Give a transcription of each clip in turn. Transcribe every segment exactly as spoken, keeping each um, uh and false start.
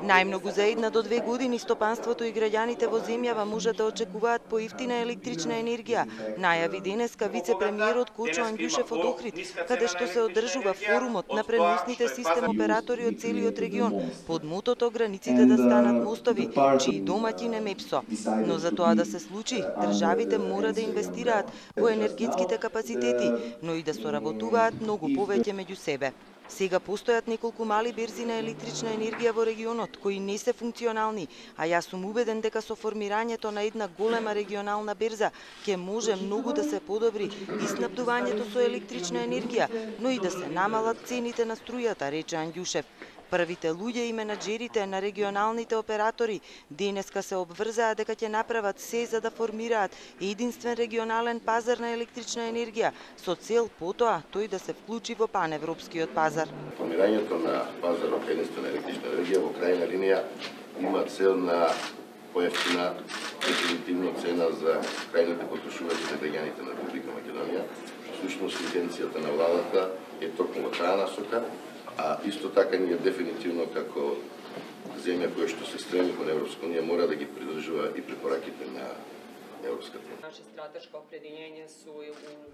Најмногу за една до две години стопанството и граѓаните во земјава можат да очекуваат поевтина електрична енергија, најави денеска вице-премиерот Кочо Ангјушев од Охрид, каде што се одржува форумот на преносните систем оператори од целиот регион, под мотото границите да станат мостови, чии домаќин е МЕПСО. Но за тоа да се случи, државите мора да инвестираат во енергетските капацитети, но и да соработуваат многу повеќе меѓу себе. Сега постојат неколку мали берзи на електрична енергија во регионот, кои не се функционални, а јас сум убеден дека со формирањето на една голема регионална берза ќе може многу да се подобри и снабдувањето со електрична енергија, но и да се намалат цените на струјата, рече Ангјушев. Првите луѓе и менаџерите на регионалните оператори денеска се обврзаа дека ќе направат се за да формираат единствен регионален пазар на електрична енергија, со цел потоа тој да се вклучи во паневропскиот пазар. Формирањето на пазарот единствена електрична енергија во крајна линија има цел на поевтина дефинитивно цена за крајните потрошувачи на граѓаните на Република Македонија. Всушност интенцијата на владата е токму во таа насока, а исто така ние дефинитивно како земја која што се стреми кон Европска унија мора да ги придржува и препораките на Европската унија.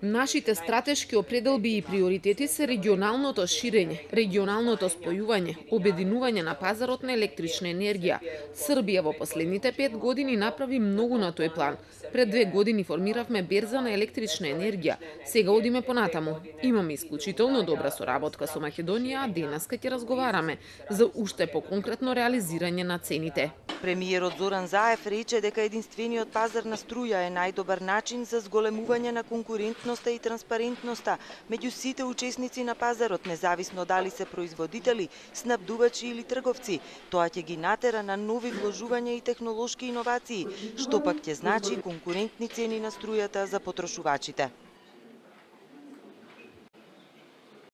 Нашите стратешки определби и приоритети се регионалното ширење, регионалното спојување, обединување на пазарот на електрична енергија. Србија во последните пет години направи многу на тој план. Пред две години формиравме берза на електрична енергија. Сега одиме понатаму. Имаме исклучително добра соработка со Македонија, а денеска ќе разговараме за уште поконкретно реализирање на цените. Премиерот Зоран Заев рече дека единствениот пазар на струја е најдобар начин за зголемување на конкурентноста и транспарентноста меѓу сите учесници на пазарот, независно дали се производители, снабдувачи или трговци. Тоа ќе ги натера на нови вложувања и технолошки иновации, што пак ќе значи конкурентни цени на струјата за потрошувачите.